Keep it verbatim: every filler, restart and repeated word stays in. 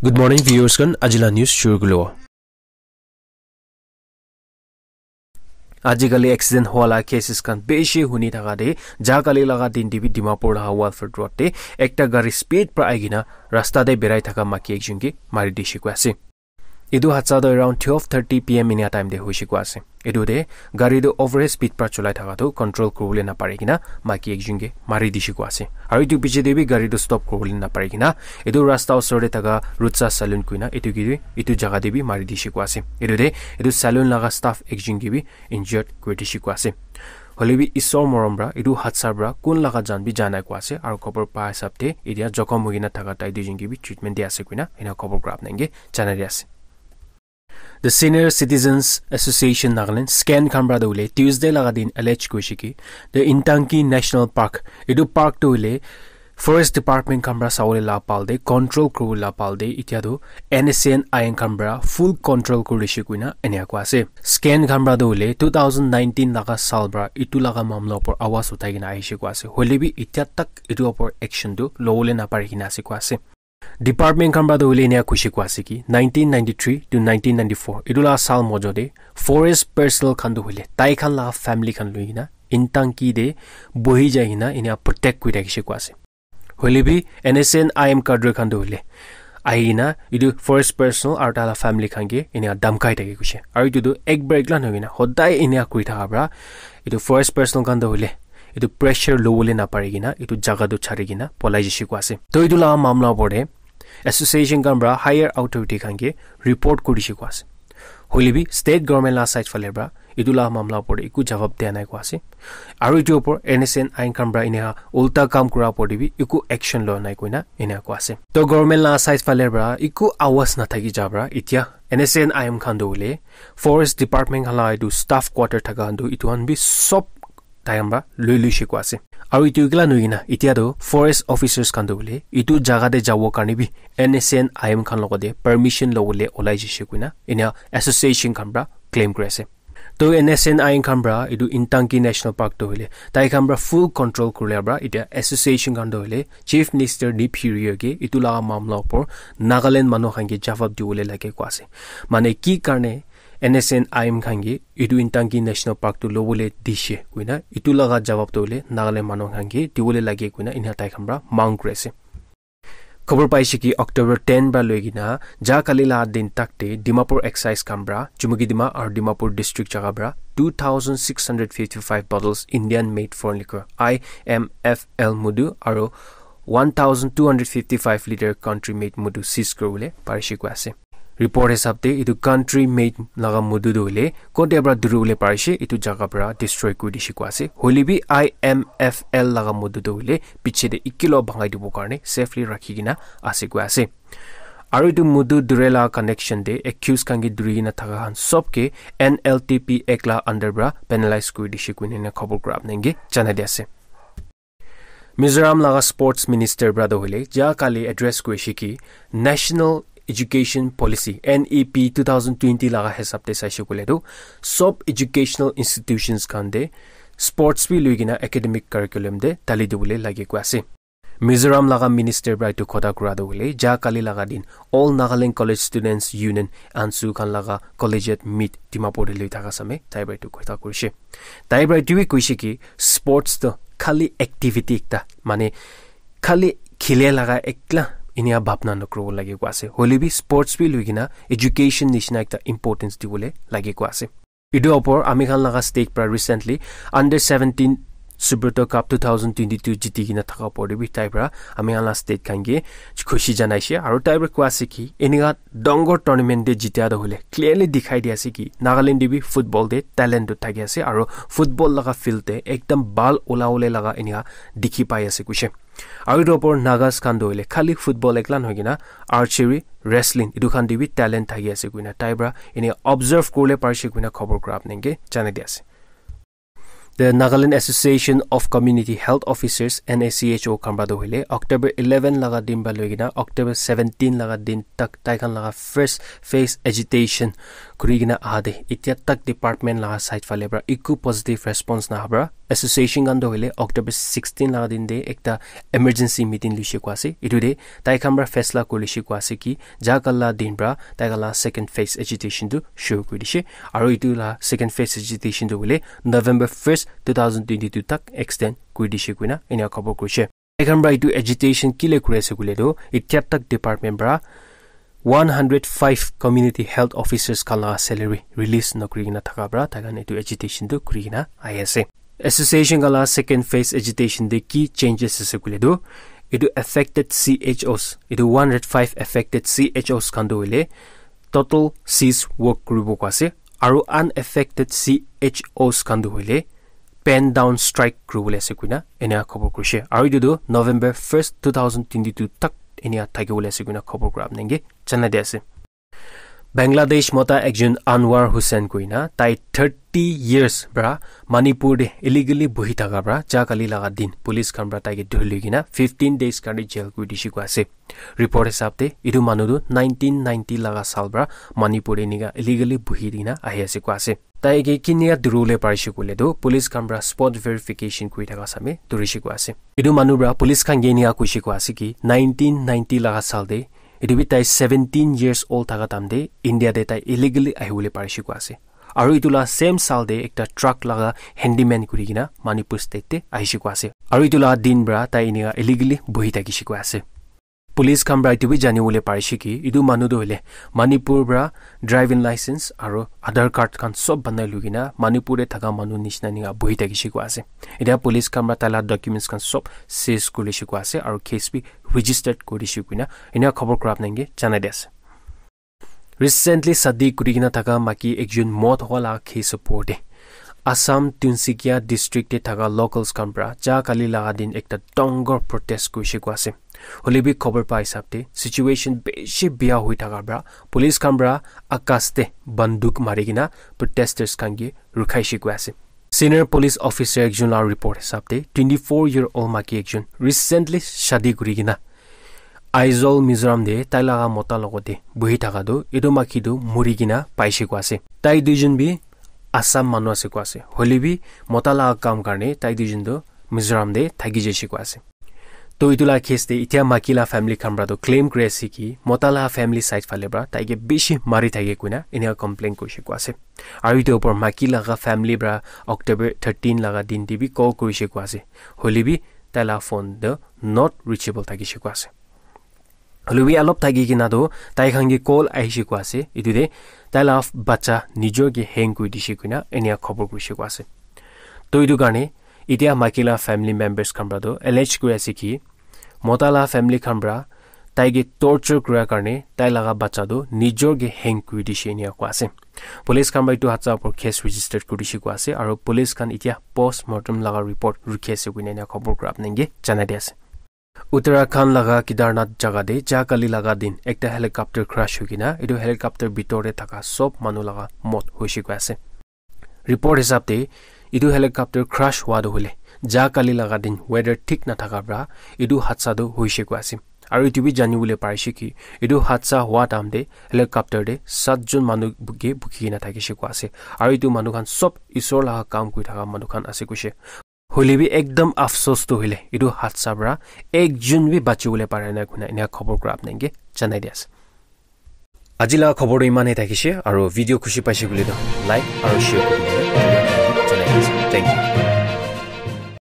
Good morning, viewers khan. Ajila news shuru kulo. Ajikali accident howa la cases khan beshi huni thaka de, ja kali laga din de bi Dimapur laga Walford Road de ekta gari speed pra aigina rasta de berai thaka maki ekjun ke mari dishi koi ase. Etu hadsa toh around twelve thirty P M inia time te hoishe koi ase. Etu te gari toh over speed pra cholai thaka toh control kuribole napari kena maki ekjun ke mari dishi koi ase. Aru etu piche te bi gari toh stop kuribole napari kena etu rasta osor te thaka Rutsa Saloon koina etu ke bi etu jaga te bi mari dishi koi ase. Etu te etu saloon laga staff ekjun ke bi injured kuri dishi koi ase. Hoile bi Isor morom pra etu hadsa pra kun laga jan bi ja nai koi ase. Aru khobor pa hisab te etia jokhom hoikena thaka tai duijun ke bi treatment di ase koina ena khobor kura apni ke janai di ase. The Senior Citizens Association Nagaland, scan khan pra toh hoile Tuesday laga din allege kurishe ki the Intanki National Park, etu park toh hoile Forest Department khan pra sawole la pal de, control kuribole la pal de, etia toh N S C N I M khan pra full control kurishe koina enia koi ase. Scan khan pra toh hoile two thousand nineteen laga saal pra etu laga mamla upor awaz uthai kena ahishe koi ase. Hoile bi etia tak etu upor action toh lobole napari kena ase koi ase. Department khan pra toh hoile enia kuishe koi ase ki nineteen ninety-three to nineteen ninety-four etu la saal mojo te forest personnel khan toh hoile tai khan la family khan loi kena Intanki te bohi jai kena enia protect kuri thakishe koi ase. Hoile bi N S C N I M cadre khan toh hoile ahi kena etu forest personnel aru tai la family khan ke enia dhamkai thake koishe. Aru etu toh ek bar ek la nohoi kena hodai enia kuri thaka pra etu forest personnel khan toh hoile etu pressure lobole napari kena etu jaga toh chari kena polai jishe koi ase. Toh etu la mamla upor te association khan pra higher authority khan ke report kurishe koi ase. Hoile bi state government la side phale pra etu la mamla upor te eku jawab dia nai koi ase. Aru etu upor N S C N I M khan pra enia ulta kam kura upor te bi eku action loa nai koina enia koi ase. Toh government la side phale pra eku awaz nathaki ja pra etia N S C N I M khan toh hoile forest department khan la etu staff quarter thaka khan toh etu khan bi sob tai khan pra lui luishe koi ase. Aru etu ekla nohoi kena etia toh forest officers khan toh hoile etu jaga te jabo karne bi N S C N I M khan logote permission lobole olai jishe koina enia association khan pra claim kuri ase. Toh N S C N I M khan pra etu Intanki National Park toh hoile tai khan pra full control kuribole pra etia association khan toh hoile Chief Minister Neiphiu Rio ke etu laga mamla upor Nagaland manu khan ke jawab dibole lage koi ase. Mane ki karne N S C N I M khan ke etu Intanki National Park toh lobole dishe koina etu laga jawab toh hoile Nagaland manu khan ke dibole lage koina enia tai khan pra mang kuri ase. Khobor paishe ki October ten pra loi kena ja kali la din tak te Dimapur excise khan pra Chumukidima aru Dimapur district jaga pra two thousand six hundred fifty-five bottles Indian made foreign liquor I M F L mudu aru one thousand two hundred fifty-five litre country made mudu seize kuribole parishe koi ase. Report hisab te etu country made laga mudu toh hoile kote pra duribole parishe etu jaga pra destroy kuri dishe koi ase. Hoile bi I M F L laga mudu toh hoile piche te ekila bhangai dibo karne safely rakhi kena ase koi ase. Aru etu mudu dure la connection te accused khan ke duri kena thaka khan sob ke N L T P Act la under pra penalize kuri dishe koina ena khobor kura apni ke janai di ase. Mizoram laga sports minister pra toh hoile ja kali address kurishe ki National Education Policy N E P two thousand twenty laga hisab te saishe koile toh sob educational institutions khan te sports bi loi kena academic curriculum te dali dibole lage koi ase. Mizoram laga minister pra etu kotha kura toh hoile ja kali laga din All Nagaland College Students Union ANSU khan laga collegiate meet Dimapur te loi thaka samay tai pra etu kotha kurishe. Tai pra etu bi koishe ki sports toh khali activity ekta, mane khali khile laga ekla enia bhabna nokuribo lage koi ase. Hoile bi sports bi loi kena education nishina ekta importance dibole lage koi ase. Etu upor ami khan laga state pra recently under seventeen Subroto Cup two thousand twenty-two jiti kena thaka upor te bi tai pra ami khan la state khan ke khushi janaishe aru tai pra koi ase ki enika dangor tournament te jitia toh hoile clearly dikhai di ase ki Nagaland te bi football te talent toh thaki ase aru football laga field te ekdam bhal ulabole laga enika dikhi pai ase koishe. Aru etu upor Nagas khan toh hoile khali football ekla nohoi kena archery, wrestling etu khan te bi talent thaki ase koina tai pra ene observe kuribole parishe koina khobor kura apni ke janai di ase. The Nagaland Association of Community Health Officers, N A C H O khan para tu hoile October eleven laga din para loi kena October seventeen laga din tak tai khan laga first phase agitation kuri kena aha de, itya tak department laga side phale para eku positive response naha para association khan tu hoile October sixteen laga din de ekta emergency meeting luishe koi ase. Etu de tai khan para faisla kuri lishe koi ase ki ja kali la din para tai khan la second phase agitation tu shuru kuri dishe. Aru etu la second phase agitation tu hoile November first, two thousand twenty-two tak extend kuri dishe koina enia khobor kurishe. Tai khan para etu agitation kile kuri ase koile tu, itya tak department para one hundred five community health officers khan la salary release nokuri kena thaka para tai khan etu agitation tu kuri kena ahi ase. Association khan la second phase agitation de ki changes ase koile tu, etu affected C H Os, etu one hundred five affected C H Os khan tu hoile total cease work kuribo koi ase, aru unaffected C H Os khan tu hoile pen down strike kuribole ase koina enia khobor kurishe. Aru etu tu November first, two thousand twenty-two tak enia thakibole ase koina khobor kura apni ke janai di ase. Bangladesh mota ekjon Anwar Hussain koina tai thirty years para Manipur de illegally buhi thaka para ja kali laga din police khan para tai ke dhuri loi kena fifteen days karne jail kuri dishe koi ase. Report hisab te etu manu tu nineteen ninety laga saal para Manipur de enika illegally buhi dina ahi ase koi ase. Tai ke kinika dhuribole parishe koile tu police khan para spot verification kuri thaka same dhurishe koi ase. Etu manu para police khan ke enika koishe koi ase ki nineteen ninety laga saal de, etu bi tai seventeen years old thaka time de India de tai illegally ahibole parishe koi ase. Aru etu la same saal de ekta truck laga handyman kuri kena Manipur state de ahishe koi ase. Aru etu la din para tai enika illegally buhi thakishe koi ase. Police khan para etu bi janibole parishe ki etu manu tu hoile Manipur para driving license aru Aadhaar card khan sob banai loi kena Manipur de thaka manu nishina enika buhi thakishe koi ase. Etia police khan para tai la documents khan sob seize kuri lishe koi ase aru case bi registered kuri dishe koina enia khobor kura apni ke janai di ase. Recently shadi kuri kena thaka maiki ekjon mot hoa la case opor de Assam Tinsukia district de thaka locals khan para ja kali laga din ekta dangor protest kurishe koi ase. Hoile bi khobor pa hisab de situation bishi bia hoi thaka para police khan para akas de banduk mari kena protesters khan ke rukhaishe koi ase. Senior police officer ekjon la report hisab de twenty-four year old maiki ekjon recently shadi kuri kena Aizawl, Mizoram de tai laga mota logot de buhi thaka tu etu maiki tu muri kena paishe koi ase. Tai duijon bi Assam manu ase koi ase. Hoile bi mota laga kam karne tai duijon tu Mizoram de thaki jaishe koi ase. To etu la case de itia maiki la family khan para tu claim kuri ase ki mota la family side phale para tai ke bishi mari thake koina enia complain kurishe koi ase. Aru etu opor maiki laga family para October thirteen laga din de bi call kurishe koi ase. Hoile bi tai la phone tu not reachable thakishe koi ase. Hoile bi alop thaki kena tu tai khan ke call ahishe koi ase. Etu de tai la bacha nijor ke hang kuri dishe koina enia khobor kurishe koi ase. To etu karne itia maiki la family members khan para tu allege kuri ase ki mota la family khan para tai ke torture kura karne tai laga bacha tu nijor ke hang kuri dishe enia koi ase. Police khan para etu hatsa opor case registered kuri dishe koi ase aru police khan itia post mortem laga report rukhi ase koina enia khobor kura apni ke janai di ase. Uttarakhand laga Kedarnath jaga de ja kali laga din ekta helicopter crash hoi kena etu helicopter bitor de thaka sob manu laga mot hoishe koi ase. Report hisab de etu helicopter crash hua tu hoile ja kali laga din weather thik na thaka para etu hadsa tu hoishe koi ase. Aru etu bi janibole parishe ki etu hadsa hua time de helicopter de satjon manu buki buki kena thakishe koi ase. Aru etu manu khan sob Isor laga kam kuri thaka manu khan ase koishe. Hoile bi ekdam afsos tu hoile etu hadsa para ekjon bi bachibole pare na koina enia khobor kura apni ke janai di ase. Aji laga khobor tu iman he thakishe aru video khushi paishe koile tu like aru share kuri dibole janai di ase. Thank you.